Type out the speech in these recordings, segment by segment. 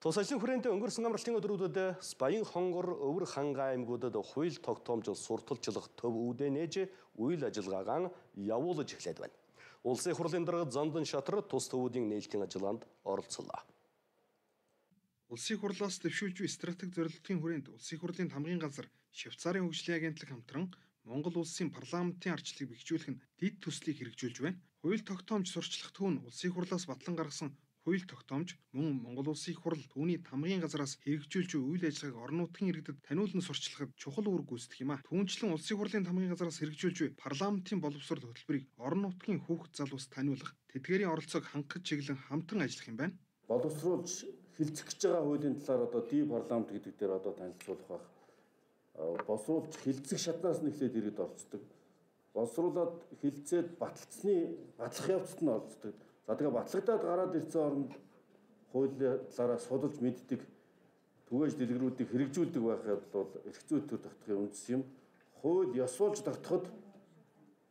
Тус ажлын хүрээнд өнгөрсөн амралтын өдрүүдэд Баян хонгор өвөр ханга аймагуудад хууль тогтоомжил сурталчлах төв үүдээ нээж үйл ажиллагаагаа явуулж эхлээд байна. Улсын хурлын дарга Зандан Шатар тус төвүүдийн нээлтийн ажиллагаанд оролцлоо. Улсын хурлаас дэвшүүлж буй стратеги зорилгын хүрээнд Улсын хурлын хамгийн газар Швейцарын хөгжлийн агентлаг хамтран Монгол улсын парламентын арчлыг бэхжүүлэх нь дэд төслийг хэрэгжүүлж байна. Хууль тогтоомж сурчлах төв нь Улсын хурлаас батлан гаргасан хууль тогтоомж мөн Монгол улсын хурал түүний тамгын газраас хэрэгжүүлж буй үйл ажиллагааг орон нутгийн иргэдэд таниулан сурчлахад чухал үүрэг гүйцэтгэх юм а. Түүнчлэн улсын хурлын тамгын газраас хэрэгжүүлж буй парламентын боловсрол хөтөлбөрийг орон нутгийн хүүхэд залуус таниулах, тэдгээрийн оролцоог хангах чиглэн хамтран ажиллах юм байна. Боловсруулж хилцэх гэж байгаа хуулийн талаар ди парламент гэдэг дээр танилцуулах байх. Боловсруулж хилцэх шатнаас нь эхлээд иргэд оролцдог. Боловсруулад хилцээд батлах явцад нь оролцдог. За тэгээ батлагдаад гараад ирсэн оронд хуулийн талаараа судалж мэддэг, түгээж дэлгэрүүдийг хэрэгжүүлдэг байхад бол эрх зүйн төр тогтохын үндэс юм. Хууль ёсуулж тогтоход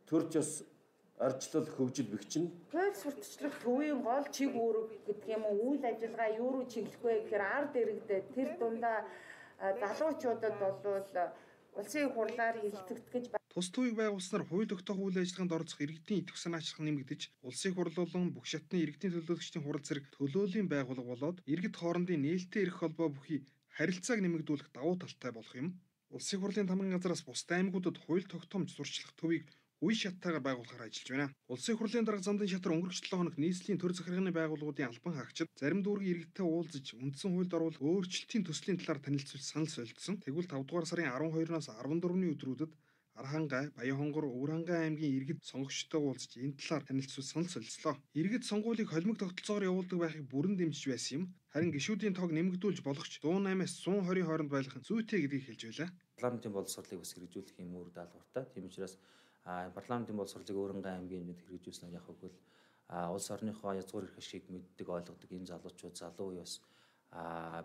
төрч ёс ардчлал хөгжил бэхжин. Хууль сурталчлах төвийн гол чиг үүрэг гэдэг юм уу, үйл ажиллагаа юу руу чиглэх вэ гэхээр ард иргэдэд тэр дундаа залуучуудад болвол улсын хурлаар хилцэгдэх гэж тус төвийг байгуулснаар хууль тогтоох үйл ажиллагаанд оролцох иргэдийн идэвх санаачлах нэмэгдэж, улсын хурал болон бүх шатны иргэдийн төлөөлөгчдийн хурал зэрэг төлөөлийн байгууллага болоод иргэд хоорондын нээлттэй эрх холбоо бүхий харилцааг нэмэгдүүлэх давуу талтай болох юм. Улсын хурлын тамгын газраас бусдын аймагуудад хууль тогтоомж сурчлах төвийг үе шаттайгаар байгуулахаар ажиллаж байна. Улсын хурлын дарга Зандан Шатар өнгөрөх 7 хоног нийслэлийн төр захиргааны байгууллагуудын албан хаагчид зарим дүүргийн иргэдтэй уулзаж үндсэн хуульд оруулах өөрчлөлтийн төслийн талаар танилцуулж санал солилцсон. Тэгвэл 5 дугаар сарын 12-наас 14-ний өдрүүдэд Архангай, Баян хонгор, Өвөр хангай аймгийн иргэд сонгогчтой уулзаж энэ талаар танилцуулж санал солилцлоо. Иргэд сонгуулийг холимог тогтолцоогоор явуулдаг байхыг бүрэн дэмжиж байсан юм. Харин гишүүдийн тоог нэмэгдүүлж болохч 108-аас 120 хооронд байлгах нь зүйтэй гэдгийг хэлж байлаа. Парламентын боловсролыг бас хэрэгжүүлэх юм үр даалгавартай. Тийм учраас парламентын боловсролыг Өвөр хангай аймгийн хэмжээнд хэрэгжүүлсэн яг хөвгөл улс орныхоо язгуур эрх ашиг мэддэг ойлгодог энэ залуучууд залуу үе бас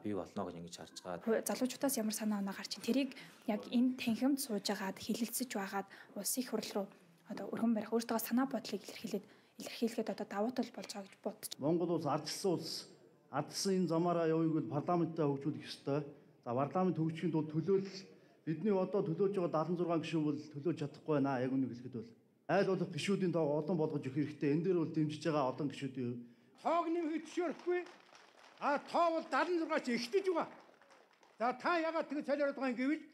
бий болно гэж ингэж харж байгаа. Залуучуудаас ямар санаа оноо гарч ин тэрийг яг энэ танхимд суужгаад хилэлцэж байгаад улсын хурал руу өргөн барих өөртөө санаа бодлыг илэрхийлэхэд давуу тал болж байгаа гэж бодож. Монгол улс ардчилсан улс. Ардсан энэ замаараа явъяг бол парламенттай хөгжүүлэх ёстой. За парламент хөгжихийн тулд төлөөлөл бидний төлөөж байгаа 76 гишүүн бол төлөөж чадахгүй байна. Яг үнийг хэлэхэд бол айл болох гишүүдийн тоог олон болгож өгөх хэрэгтэй. Энэ дээр бол дэмжиж байгаа олон гишүүдийн тоог нэмэхэд зөвшөөрөхгүй. Тоо бол 76-аас ихтэж байгаа. За та ягаад ингэ цалиараад байгаа юм гэвэл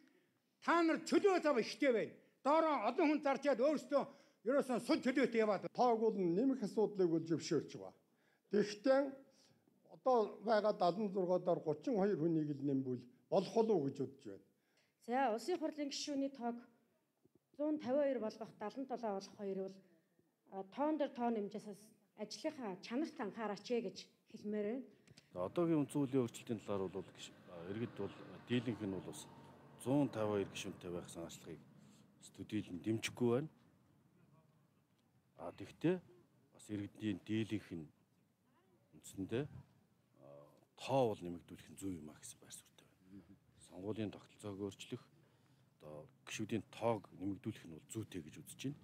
та нар чөлөө зав ихтэй байна. Доороо олон хүн зарчаад өөрсдөө ерөөсөн сул чөлөөтэй яваад. Тоог бол нэмэх асуудлыг бол зөвшөөрч байгаа. Тэгэхдээ одоо байгаа 76-аар 32 хүнийг л нэмбэл болох уу гэж бодож байна. За улсын хурлын гишүүний тоог 152 болгох 77 болох хоёр бол тоон дээр тоо нэмжээс ажлынхаа чанарт анхаараач гэж хэлмээр байна. Одоогийн үндсэн хуулийн өөрчлөлтийн талаар бол иргэд бол дийлэнх нь бол бас 152 гишүүнтэй байх санаачлагыг дийлэн дэмжихгүй байна. Тэгвэл бас иргэдийн дийлэнх нь үндсэндээ тоо бол нэмэгдүүлэх нь зөв юм а гэсэн байр суурьтай байна. Сонгуулийн тогтолцоог өөрчлөх, гишүүдийн тоог нэмэгдүүлэх нь бол зүйтэй гэж үзэж байна.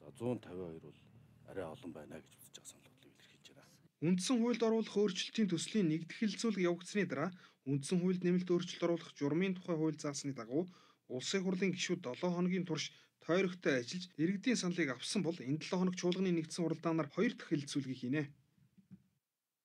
За 152 бол арай олон байна гэж үзэж байгаа санал бодлыг илэрхийлж байна. Үндсэн хуульд оруулах өөрчлөлтийн төслийн нэгдэх хэлцүүлэг явагдсны дараа үндсэн хуульд нэмэлт өөрчлөлт оруулах журмын тухай хууль заасны дагуу улсын хурлын гишүүд 7 хоногийн турш тойрогтой ажиллаж иргэдийн саналыг авсан бол энэ 7 хоног чуулганы нэгдсэн хуралдаанаар 2 дахь хэлцүүлгийг хийнэ.